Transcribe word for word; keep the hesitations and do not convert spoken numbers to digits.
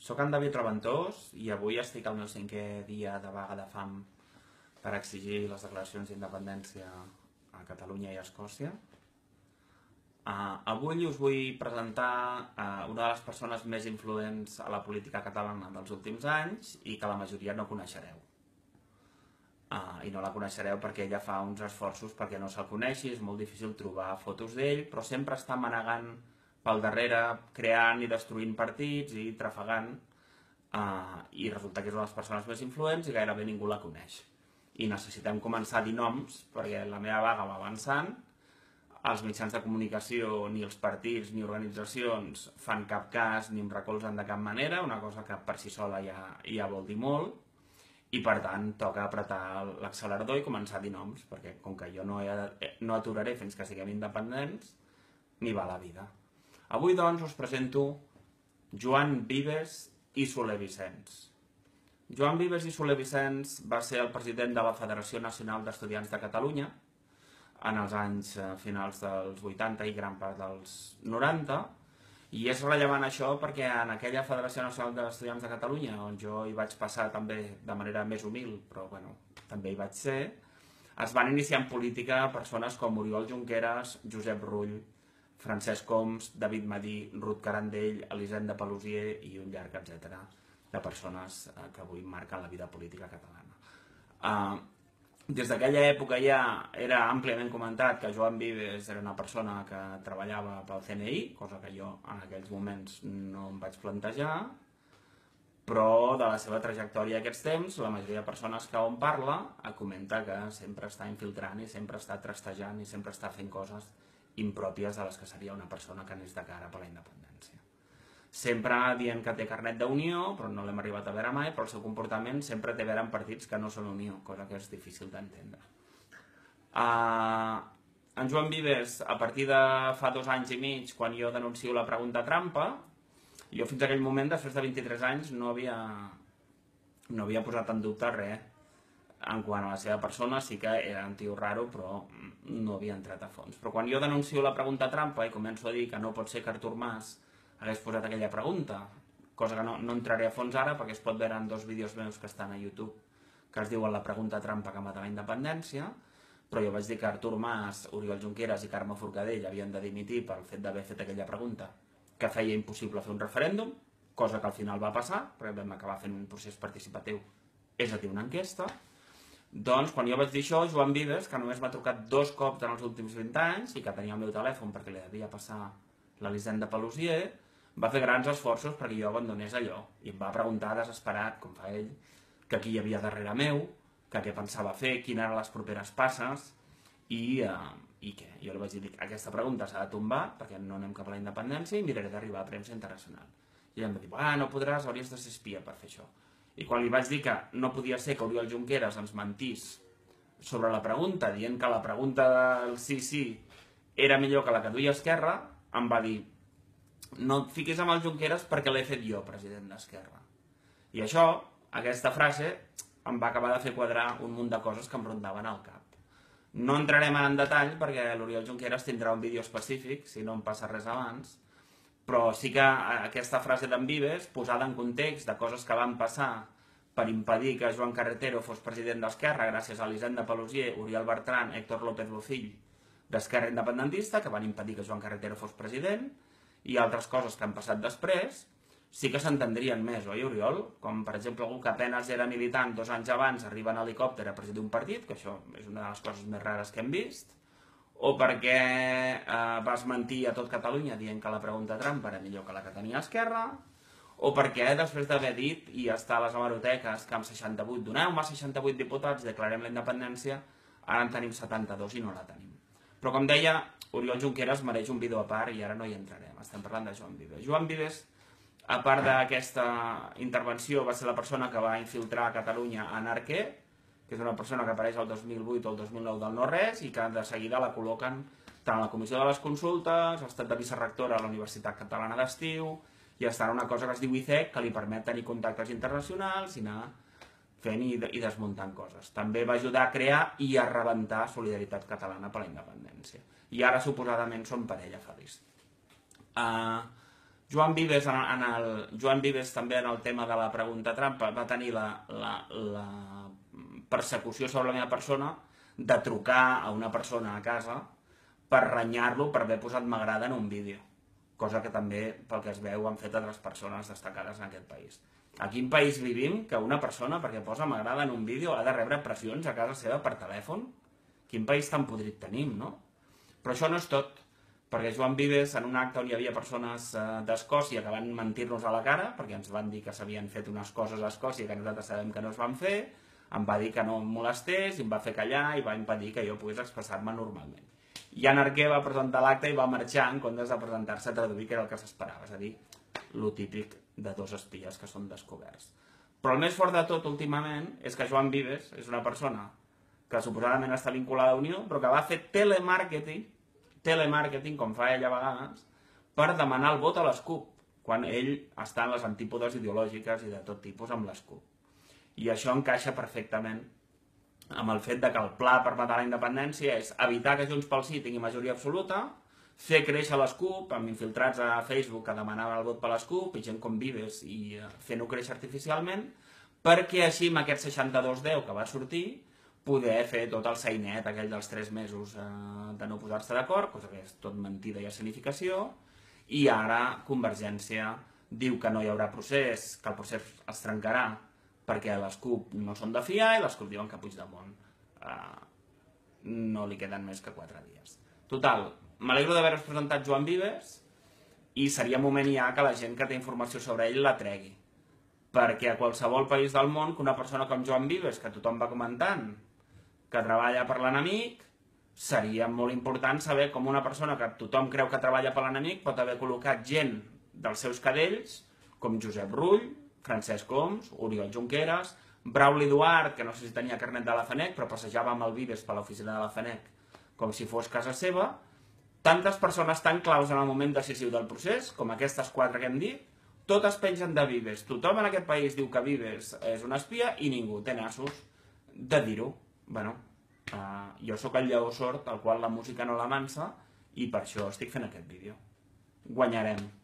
Soc en David Reventós i avui estic al meu cinquè dia de vaga de fam per exigir les declaracions d'independència a Catalunya i a Escòcia. Uh, avui us vull presentar uh, una de les persones més influents a la política catalana dels últims anys i que la majoria no coneixereu. Uh, I no la coneixereu perquè ella fa uns esforços perquè no se'l coneixi, és molt difícil trobar fotos d'ell, però sempre està manegant pel darrere, creant i destruint partits i trafegant, uh, i resulta que és una de les persones més influents i gairebé ningú la coneix. I necessitem començar a dir noms perquè la meva vaga va avançant, els mitjans de comunicació, ni els partits ni organitzacions fan cap cas ni em recolzen de cap manera, una cosa que per si sola ja, ja vol dir molt, i per tant toca apretar l'accelerador i començar a dir noms, perquè com que jo no, he, no aturaré fins que siguem independents, ni va la vida. Avui doncs us presento Joan Vives i Soler Vicens. Joan Vives i Soler Vicens va ser el president de la Federació Nacional d'Estudiants de Catalunya en els anys finals dels vuitanta i gran part dels noranta, i és rellevant això perquè en aquella Federació Nacional d'Estudiants de Catalunya, on jo hi vaig passar també de manera més humil, però bueno, també hi vaig ser, es van iniciar en política persones com Oriol Junqueras, Josep Rull, Francesc Homs, David Madí, Ruth Carandell, Elisenda Paluzie i un llarg etcètera de persones que avui marquen la vida política catalana. Uh, Des d'aquella època ja era àmpliament comentat que Joan Vives era una persona que treballava pel C N I, cosa que jo en aquells moments no em vaig plantejar, però de la seva trajectòria aquests temps, la majoria de persones que on parla comenta que sempre està infiltrant i sempre està trastejant i sempre està fent coses impròpies de les que seria una persona que anés de cara per la independència. Sempre dient que té carnet d'unió, però no l'hem arribat a veure mai, però el seu comportament sempre té a veure amb partits que no són unió, cosa que és difícil d'entendre. Uh, en Joan Vives, a partir de fa dos anys i mig, quan jo denuncio la pregunta trampa, jo fins a aquell moment, després de vint-i-tres anys, no havia, no havia posat en dubte res. En quant a la seva persona, sí que era un tio raro, però no havia entrat a fons. Però quan jo denuncio la pregunta trampa i començo a dir que no pot ser que Artur Mas hagués posat aquella pregunta, cosa que no, no entraré a fons ara perquè es pot veure en dos vídeos meus que estan a YouTube que es diuen la pregunta trampa que mata la independència, però jo vaig dir que Artur Mas, Oriol Junqueras i Carme Forcadell havien de dimitir pel fet d'haver fet aquella pregunta que feia impossible fer un referèndum, cosa que al final va passar, perquè vam acabar fent un procés participatiu, és a dir, una enquesta. Doncs quan jo vaig dir això, Joan Vives, que només m'ha trucat dos cops en els últims vint anys i que tenia el meu telèfon perquè li devia passar l'Elisenda Paluzie, va fer grans esforços perquè jo abandonés allò i em va preguntar desesperat, com fa ell, que qui hi havia darrere meu, que què pensava fer, quines eren les properes passes i, uh, i què. Jo li vaig dir, aquesta pregunta s'ha de tombar perquè no anem cap a la independència i miraré d'arribar a premsa internacional. I ell em va dir, ah, no podràs, hauries de ser espia per fer això. I quan li vaig dir que no podia ser que Oriol Junqueras ens mentís sobre la pregunta, dient que la pregunta del sí, sí era millor que la que duia Esquerra, em va dir, no et fiquis amb el Junqueras perquè l'he fet jo president d'Esquerra. I això, aquesta frase, em va acabar de fer quadrar un munt de coses que em rondaven al cap. No entrarem en detall perquè l'Oriol Junqueras tindrà un vídeo específic, si no em passa res abans, però sí que aquesta frase d'en Vives, posada en context de coses que van passar per impedir que Joan Carretero fos president d'Esquerra gràcies a Elisenda Paluzie, Oriol Bertran, Héctor López Bofill d'Esquerra Independentista, que van impedir que Joan Carretero fos president, i altres coses que han passat després, sí que s'entendrien més, oi, Oriol? Com, per exemple, algú que apenas era militant dos anys abans arriba en helicòpter a presidir un partit, que això és una de les coses més rares que hem vist, o perquè eh, vas mentir a tot Catalunya dient que la pregunta trampa era millor que la que tenia Esquerra, o perquè després d'haver dit i estar a les hemeroteques que amb seixanta-vuit doneu-me seixanta-vuit diputats, declarem la independència, ara en tenim setanta-dos i no la tenim. Però com deia, Oriol Junqueras mereix un vídeo a part i ara no hi entrarem, estem parlant de Joan Vives. Joan Vives, a part d'aquesta intervenció, va ser la persona que va infiltrar a Catalunya en Arquer, que és una persona que apareix el dos mil vuit o el dos mil nou del no-res i que de seguida la col·loquen tant a la Comissió de les Consultes, ha estat de vicerectora a la Universitat Catalana d'Estiu i està en una cosa que es diu I C E C, que li permet tenir contactes internacionals i anar fent i, i desmuntant coses. També va ajudar a crear i a rebentar Solidaritat Catalana per la independència. I ara, suposadament, són parella feliç. Uh, Joan Vives, en, en el, Joan Vives també en el tema de la pregunta trampa va tenir la, la, la persecució sobre la meva persona de trucar a una persona a casa per renyar-lo per haver posat m'agrada en un vídeo, cosa que també, pel que es veu, han fet altres persones destacades en aquest país. A quin país vivim que una persona, perquè posa m'agrada en un vídeo, ha de rebre pressions a casa seva per telèfon? Quin país tan podrit tenim, no? Però això no és tot, perquè Joan Vives, en un acte on hi havia persones eh, d'Escòcia que van mentir-nos a la cara, perquè ens van dir que s'havien fet unes coses a Escòcia que nosaltres sabem que no es van fer, em va dir que no em molestés, i em va fer callar i va impedir que jo pogués expressar-me normalment. I en Arquer va presentar l'acte i va marxar en comptes de presentar-se a traduir, que era el que s'esperava, és a dir, lo típic de dos espies que són descoberts. Però el més fort de tot últimament és que Joan Vives és una persona que suposadament està vinculada a Unió, però que va fer telemàrqueting, telemàrqueting, com fa ell a vegades, per demanar el vot a les CUP, quan ell està en les antípodes ideològiques i de tot tipus amb les CUP. I això encaixa perfectament amb el fet de que el pla per matar la independència és evitar que Junts pel Sí tingui majoria absoluta, fer créixer les CUP, amb infiltrats a Facebook que demanaven el vot per les CUP, i gent com Vives, i fent-ho créixer artificialment, perquè així amb aquest seixanta-dos deu que va sortir, poder fer tot el sainet aquell dels tres mesos eh, de no posar-se d'acord, cosa que és tot mentida i escenificació, i ara Convergència diu que no hi haurà procés, que el procés es trencarà perquè les CUP no són de fiar i les CUP diuen que a Puigdemont eh, no li queden més que quatre dies. Total, m'alegro d'haver-vos presentat Joan Vives i seria moment ja que la gent que té informació sobre ell la tregui. Perquè a qualsevol país del món que una persona com Joan Vives, que tothom va comentant, que treballa per l'enemic, seria molt important saber com una persona que tothom creu que treballa per l'enemic pot haver col·locat gent dels seus cadells, com Josep Rull, Francesc Homs, Oriol Junqueras, Brauli Duart, que no sé si tenia carnet de la FANEC, però passejava amb el Vives per l'oficina de la FANEC com si fos casa seva. Tantes persones tan claus en el moment decisiu del procés, com aquestes quatre que hem dit, totes pengen de Vives. Tothom en aquest país diu que Vives és un espia i ningú té nassos de dir-ho. Bueno, uh, jo sóc el lleó sord, al qual la música no la mansa, i per això estic fent aquest vídeo. Guanyarem.